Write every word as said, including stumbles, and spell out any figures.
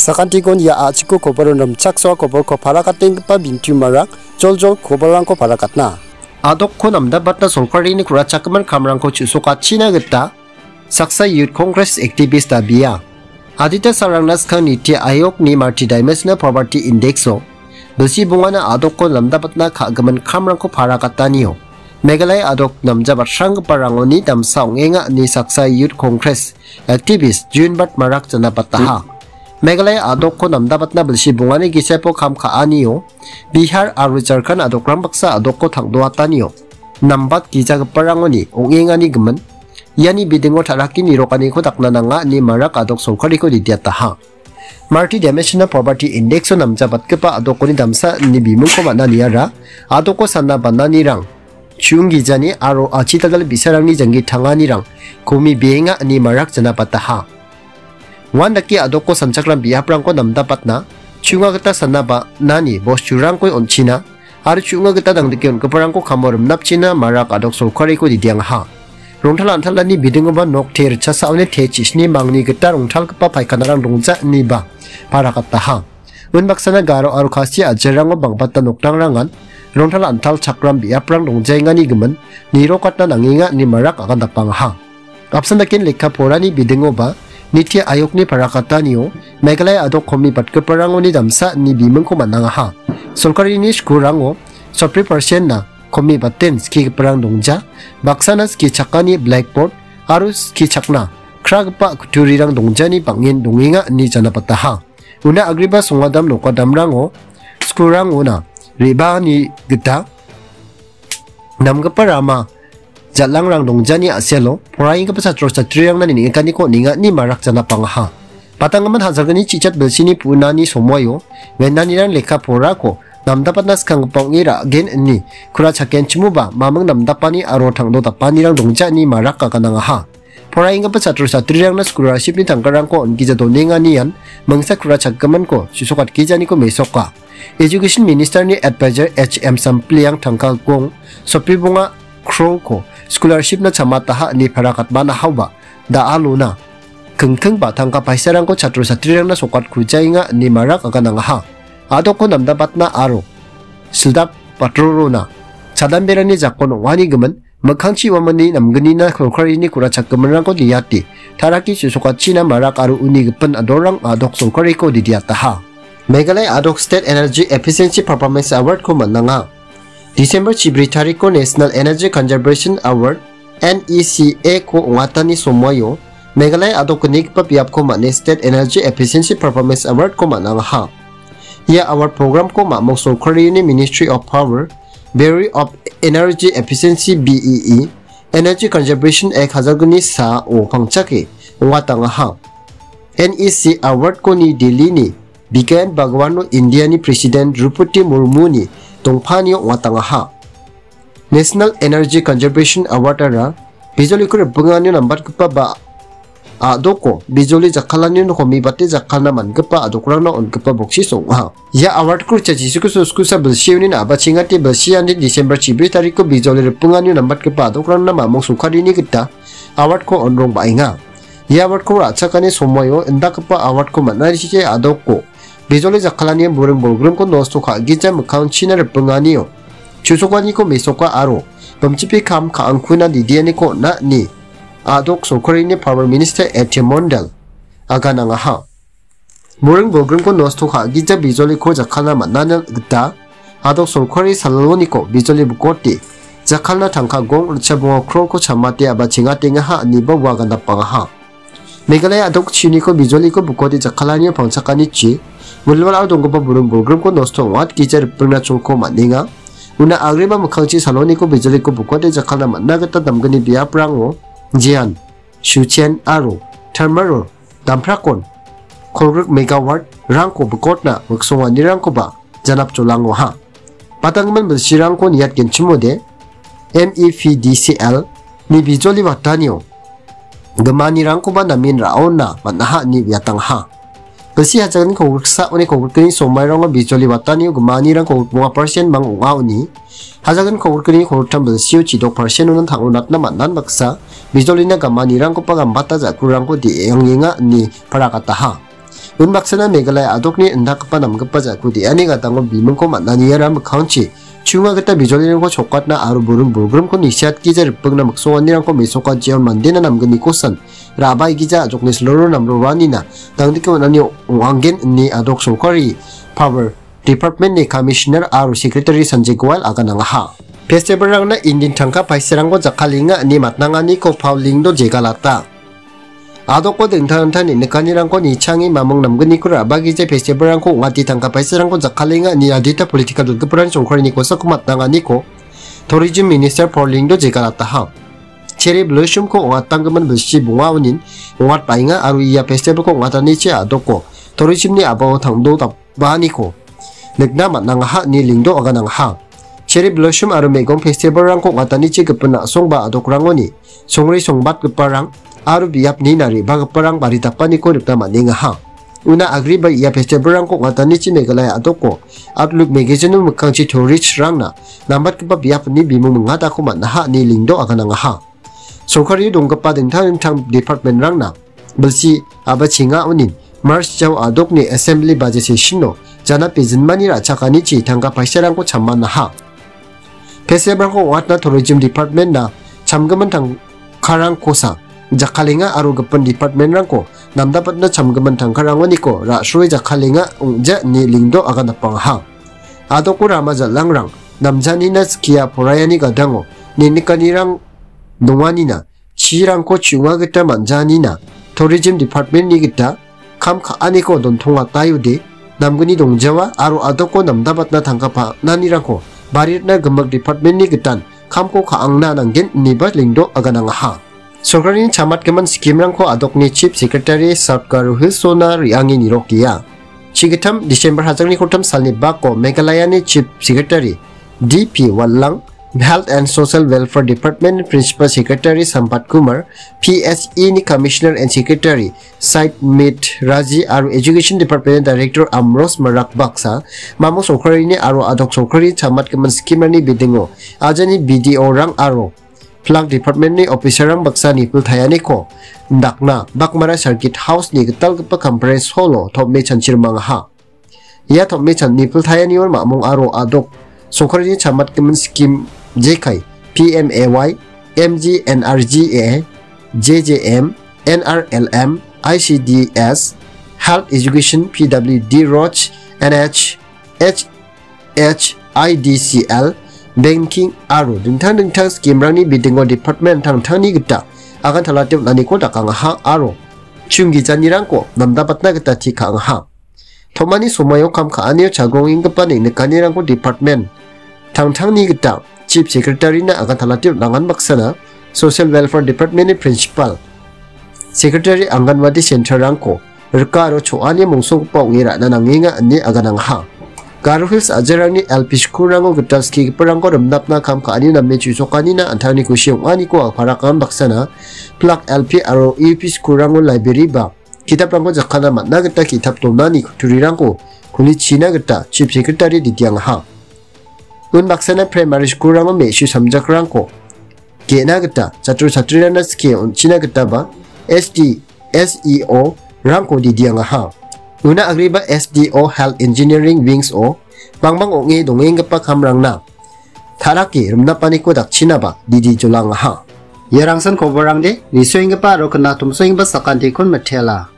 Sakantikon ia a·chiko koboro rimchaksoa koborko parakatenggipa bintiumarang joljol koborrangko parakatna. A·dokko namdabatna sorkarini ku·rachakgimin kamrangko chu·sokachina gita saksa Youth Congress activist dabia. Adita salrangna skang Niti Ayogni Multidimensional Poverty Indexo bilsi bongana a·dokko namdabatna ka·gimin kamrangko parakatanio Meghalaya a·dok namjabatranggiparangoni damsa ong·enga ine saksa Youth Congress activist Junbat Marak janabataha. Meghalaya a·dokko namdabatna bilsi bongani gisepo kam ka·anio Bihar aro Jharkhand a·dokrang baksa a·dokko tangdoatanio nambat gijagiparangoni ong·engani gimin. Iani bidingo taraki nirokaniko dakna nanga ine Marak a·dok sorkariko didiataha. Multidimensional Poverty Indexo namjabatgipa a·dokoni damsa ine bimungko man·a niara a·dokko sana bananirang, chunggijani aro achitadal bi·sarangni janggi tanganirang komi beenga ine Marak janabataha. Uandake a·dokko sanchakram biaprangko namdabatna, chunga gita sana ba·nani bosturangko on·china, aro chu·nga gita dangdike on·giparangko kamo rimnapchina Marak a·dok sorkariko didiangaha. Rongtal antalani bidingoba nok te ritchasaoni te chisni mangni gita rongtalgipa paikanarang dongja iniba parakataha. Unbaksana Garo aro Khasi a·jerango bang·bata nokrangrangan rongtal antal chakram biaprang dongjaengani gimin nirokatna nangenga ine Marak agandapangaha. Apsan daken lekka porani bidingoba Niti Ayogni parakatanio Meghalaya a·dok komi batgiparangoni damsa ine bimungko man·angaha. Sorkarini skulango sotri persen-na komi baten skigiparang dongja, baksana skichakani blackboard aro skichakna kragipa kutturirang dongjani bang·en dongenga ine janabataha. Una agreba songadam nokadamrango skulrangona re·baani gita namgipa rama jal·angrang dongjani a·selo poraienggipa chatro chatrirangna neng·ekaniko on·enga ine Marak janapangaha. Patanggimin hajalgni chichat bilsini pu·nani somoio venanirang lekka porako namdapatna skanggipa ong·e ra·gen ine kura chakenchimoba maming namdapani aro tangdo dapanirang dongja ine Marak aganangaha. Poraienggipa chatro chatrirangna scholarship-ni tangkarangko on·gija donenganian mingsa kura chakgiminko chu·sokatgijaniko mesoka. Education Minister-ni advisor H M Sampliang tangka gong sotbri bonga crore-ko scholarship-na chamataha ine parakatmanahaoba da·alona kingkingba tangka paisarangko chatro chatrirangna sokatkujaenga ine Marak aganangaha. A·dokko namdabatna aro sildap batrorona chadamberani jakon ong·ani gimin mikkangchi uamangni namgnina sorkarini kura chakgiminrangko niate taraki chu·sokachina Marak aro uni gipin adorang a·dok sorkariko didiataha. Meghalaya a·dok State Energy Efficiency Performance Award-ko man·anga. December chibri tariko National Energy Conservation Award, N E C A-ko ong·atani somoio Meghalaya a·dok gnigipa biapko man·e State Energy Efficiency Performance Award-ko man·angaha. Ia award program-ko mamung sorkarini Ministry of Power, Bureau of Energy Efficiency, B E E, Energy Conservation Act hajalgni sao pangchake ong·atangaha. N E C Award-ko New Delhi-ni Vigyan Bhawan-o India-ni President Droupadi Murmu-ni dongpanio ong·atangaha. National Energy Conservation Award-ara bijoliko ripinganio nambatgipa ba a·doko bijoli jakkalanio komibate jakkalna man·gipa a·dokrangna on·gipa boksisi ong·a. Ia award-ko richa Jisu Kristo skusa bilsioni na·bachengate bilsiani December chibri tariko bijoli ripinganio nambatgipa a·dokrangna mamung sorkarini gita award-ko on·rong ba·enga. Ia award-ko ra·chakani somoio indakgipa award-ko man·arichike a·doko bijoli jakkalani buring bolgrimko nosto ka·gija mikkangchina ripinganio chu·sokaniko mesoka aro bimchipi kam ka·angkuna didianiko on·a ine a·dok sorkarini Power Minister A T Mondal aganangaha. Buring bolgrimko nosto ka·gija bijoliko jakkalna man·ani gita a·dok sorkari saloniko bijoli bikote jakkalna tangka gong ritchabonga crore-ko chamate aba·chengatengaha ine ua gandapangaha. Meghalaya a·dok chiniko bijoliko bikote jakkalanio pangchakanichi wilwilao donggipa buring bolgrimko nosto ong·atgija ripingna cholko man·enga. Una agreba mikkangchi saloniko bijoliko bikote jakkalna man·a gita damgni biaprango Jian, Shuchen aro Thermal Damprakon kolgrik megawatt-rangko bikotna miksonganirangkoba janapjolangoha. Patanggimin bilsirangko niatgenchimode, M E P D C L ni bijoli watanio gimanirangkoba namen ra·ona man·aha ine uiatangaha. Bilsi hajalgni kolgriksa uni kolgrikni somairango bijoli watanio gimanirang kolgrikbonga persen mang ong·a uni. Hajalgni kolgrikni kolgriktang bilsio chidok persen-ona tang·onatna man·an baksa bijolina gamanirangkoba gambata ja·kurangko de·engenga ine parakataha. Unbaksana Meghalaya a·dokni indakgipa namgipa ja·ku de·ani gadango bimingko man·aniara mikkangchi chunga gita bijolirangko chokatna aro buring bolgrimko nisiatgija ripengna miksonganirangko mesokajion mandena namgnikosan ra·baigija a·dokni siloro namroanina dangdike on·ani ong·anggen ine a·dok sorkari Power Department-ni Commissioner aro Secretary Sanjay Goel aganangaha. Festival-rangna indin tangka paisarangko jakkalenga ine matnanganiko Paul Lyngdoh jegalata. A·doko dingtang dingtang neng·nikanirangko nichange mamung namgniko ra·bagija festival-rangko ong·ate tangka paisarangko jakkalenga ine adita political donggiparangni sorkarini kosako matnanganiko Tourism Minister Paul Lyngdoh jegalataha. Cherry Blossom-ko ong·atanggimin bilsi bonga onin ong·atbaenga aro ia festival-ko ong·atanichi a·doko tourism-ni a·bao tangdo dap-, baaniko nikna man·angaha ine Lyngdoh aganangaha. Cherry Blossom aro me·gong festival-rangko ong·atanichi gipin a·song ba a·dokrangoni songre songbatgiparang aro biapni naribagiparang bari dapaniko nikna man·engaha. Una agreba ia festival-rangko ong·atanichi Meghalaya a·doko Outlook magazine-o mikkangchi tourist-rangna nambatgipa biapni bimung mingadako man·aha ine Lyngdoh aganangaha. Sorkario donggipa dingtang dingtang department-rangna bilsi a·bachenga onin March jao a·dokni assembly budget session-o janat bijinmani ra·chakanichi tangka paisarangko chammanaha. Festival-rangko ong·atna tourism department-na chamgimin tangkarangkosa jakkalenga aro gipin department-rangko namdapatna chamgimin tangkarangoniko ra·sroe jakkalenga ong·ja ine Lyngdoh agandapangaha. A·doko rama jal·angrang namjanina skia poraiani gadango neng·nikanirang donganina chirangko chi·onga gita man·janina tourism department-ni gita kam ka·aniko dontongataiode namgni dongjawa aro a·doko namdabatna tangka pa·nanirangko baritna gimik department-ni gitan kamko ka·angna nanggen ineba Lyngdoh aganangaha. Sorkarini chamatgimin scheme-rangko a·dokni Chief Secretary South Garo Hills-ona re·ange nirokja. Chigittam December hajangni koltam salni bako Meghalayani Chief Secretary D P Wallang, Health and Social Welfare Department Principal Secretary Sampat Kumar, P S E ni Commissioner and Secretary Said Mit Raji aro Education Department Director Amros Marak baksa, mamung sorkarini aro a·dok sorkari chamatgimin scheme-rangni bidingo ajani B D O-rang aro Flag Department-ni officer-rang baksa nipiltaianiko indakna Baghmara Circuit House-ni gitalgipa conference hall-o tom·e chanchirimangaha. Ia tom·e chan-, nipiltaianio mamung aro a·dok sorkarini chamatgimin scheme jekai P M A Y, M G N R G A, J J M, N R L M, I C D S, Health Education, P W D, Road, N H, H H I D C L, banking aro dingtang dingtang scheme-rangni bidingo department tangtangni gita agantalate on·aniko dakangaha aro chunggijanirangko namdabatna gita tee ka·angaha. Tomani somoio kam ka·anio chagrongenggipa neng·nikanirangko department tangtangni gita Chief Secretary-na agantalate on·angan baksana Social Welfare Department-ni Principal Secretary Anganwadi Center-rangko rika aro cho·ani mongsogipa ong·e ra·na nangenga ine aganangaha. Garo Hills a·jerangni L P school-rango gital skigiparangko rimnapna kam ka·ani name chu·sokanina an·tangni kusi ong·aniko a·parakan baksana Plak L P aro U P school-rango library ba ki·taprangko jakkalna man·a gita ki·tap donani kutturirangko kulichina gita Chief Secretary didiangaha. Unbaksana primary school-rango me·su samjakrangko ge·na gita chatro chatrirangna skie on·china gitaba S D, S E O-rangko didiangaha. Una agreba S D O Health Engineering Wings-o bangbang ong·e dongenggipa kamrangna ta·rake rimnapaniko dakchinaba didi jolangaha. Iarangsan koborrangde, nisoenggipa aro knatomsoenggipa sakantikon mitela.